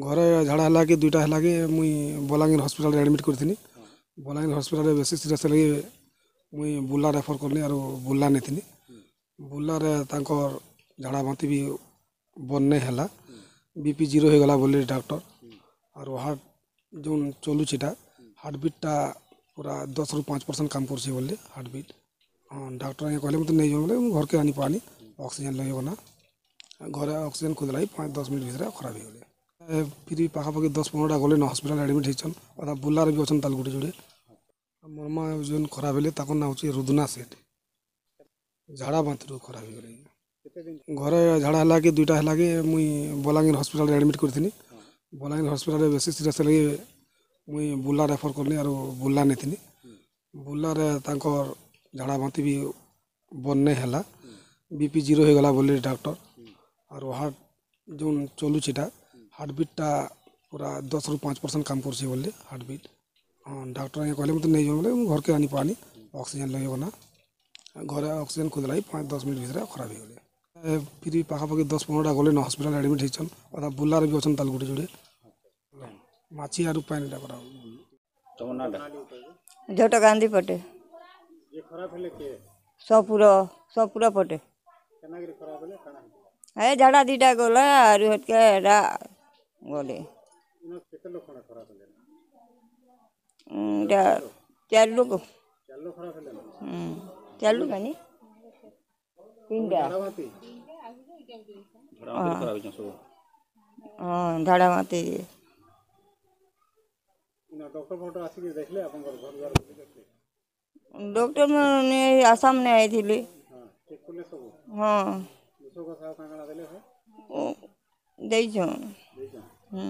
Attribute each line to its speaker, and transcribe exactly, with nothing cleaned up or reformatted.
Speaker 1: ଘରେ ଝାଡ଼ା ହେଲା କି ଦୁଇଟା ହେଲା କି ମୁଇଁ ବଲାଙ୍ଗୀର ହସ୍ପିଟାଲ୍ରେ ଆଡ଼ମିଟ୍ କରିଥିଲି। ବଲାଙ୍ଗୀର ହସ୍ପିଟାଲ୍ରେ ବେଶୀ ସିରିୟସ୍ ହେଲା କି ମୁଇଁ ବୁର୍ଲା ରେଫର୍ କଲି ଆରୁ ବୁର୍ଲା ନେଇଥିଲି। ବୁର୍ଲାରେ ତାଙ୍କର୍ ଝାଡ଼ା ବାନ୍ତି ବି ବନ୍ଦ ନାଇଁ ହେଲା, ବି ପି ଜିରୋ ହେଇଗଲା ବୋଲି ଡାକ୍ତର। ଆରୁ ହାର୍ଟ ଯେନ୍ ଚଲୁଛିଟା ହାର୍ଟ ବିଟ୍ଟା ପୁରା ଦଶରୁ ପାଞ୍ଚ ପରସେଣ୍ଟ କାମ କରୁଛି ବୋଲି ହାର୍ଟ ବିଟ୍। ହଁ, ଡାକ୍ତର ଆଜ୍ଞା କହିଲେ ମୋତେ ନେଇଯାଉ ବୋଲେ ମୁଁ ଘରକେ ଆନି ପାନି ଅକ୍ସିଜେନ୍ ଲଗେଇଗଲା। ଘରେ ଅକ୍ସିଜେନ୍ ଖୋଜିଲା ପାଞ୍ଚ ଦଶ ମିନିଟ୍ ଭିତରେ ଖରାପ ହେଇଗଲେ। ଫିର୍ ପାଖାପାଖି ଦଶ ପନ୍ଦରଟା ଗଲେ ହସ୍ପିଟାଲ୍ ଆଡ଼ମିଟ୍ ହେଇଛନ୍, ଅଧା ବୁର୍ଲାରେ ବି ଅଛନ୍ ତାର୍ ଗୋଟେ ଯୋଡ଼େ। ମୋର୍ ମା ଯେନ୍ ଖରାପ ହେଲେ ତାଙ୍କର ନାଁ ହେଉଛି ରୁଦନା ସେଠ୍। ଝାଡ଼ା ବାନ୍ତିରୁ ଖରାପ ହେଇଗଲେ। ଘରେ ଝାଡ଼ା ହେଲା କି ଦୁଇଟା ହେଲା କି ମୁଇଁ ବଲାଙ୍ଗୀର ହସ୍ପିଟାଲ୍ରେ ଆଡ଼ମିଟ୍ କରିଥିଲି। ବଲାଙ୍ଗୀର ହସ୍ପିଟାଲ୍ରେ ବେଶୀ ସିରିୟସ୍ ହେଲା କି ମୁଇଁ ବୁର୍ଲା ରେଫର୍ କଲି ଆରୁ ବୁର୍ଲା ନେଇଥିଲି। ବୁର୍ଲାରେ ତାଙ୍କର୍ ଝାଡ଼ା ବାନ୍ତି ବି ବନ୍ଦ ନାଇଁ ହେଲା, ବି ପି ଜିରୋ ହେଇଗଲା ବୋଲି ଡାକ୍ତର। ଆରୁ ହାର୍ଟ ଯେନ୍ ଚଲୁଛିଟା ହାର୍ଟ ବିଟ୍ଟା ପୁରା ଦଶରୁ ପାଞ୍ଚ ପରସେଣ୍ଟ କାମ କରୁଛି ବୋଲି ହାର୍ଟ ବିଟ୍। ହଁ, ଡାକ୍ତର ଆଜ୍ଞା କହିଲେ ମୋତେ ନେଇଯାଉ ବୋଲେ ମୁଁ ଘରକେ ଆନି ପାନି ଅକ୍ସିଜେନ୍ ଲଗେଇଗଲା। ଘରେ ଅକ୍ସିଜେନ୍ ଖୋଜିଲା ପାଞ୍ଚ ଦଶ ମିନିଟ୍ ଭିତରେ ଖରାପ ହେଇଗଲେ। ଫିର୍ ପାଖାପାଖି ଦଶ ପନ୍ଦରଟା ଗଲେ ହସ୍ପିଟାଲ୍ ଆଡ଼ମିଟ୍ ହେଇଛନ୍, ଅଧା ବୁର୍ଲାରେ ବି ଅଛନ୍ ତାର୍ ଗୋଟେ ଯୋଡ଼େ। ମାଛି ଆରୁ ପାଣିଟା କରା।
Speaker 2: ଝୋଟ ଗାନ୍ଧୀ ପଟେ, ସପୁର ସପୁର ପଟେ। ଏ ଝାଡ଼ା ଦିଟା ଗଲା ଆରୁ ହେତ୍କେ ଏଟା ଗଲେ। ଏଇଟା ଚାରି ଲୋକ, ଚାରି ଲୋକ ନି ତିନିଟା। ହଁ, ଝାଡ଼ା ବାନ୍ତି। ଡକ୍ଟର ମାନେ ଆସାମ ନେ ଆଇଥିଲେ। ହଁ, ଦେଇଛନ୍। ହୁଁ।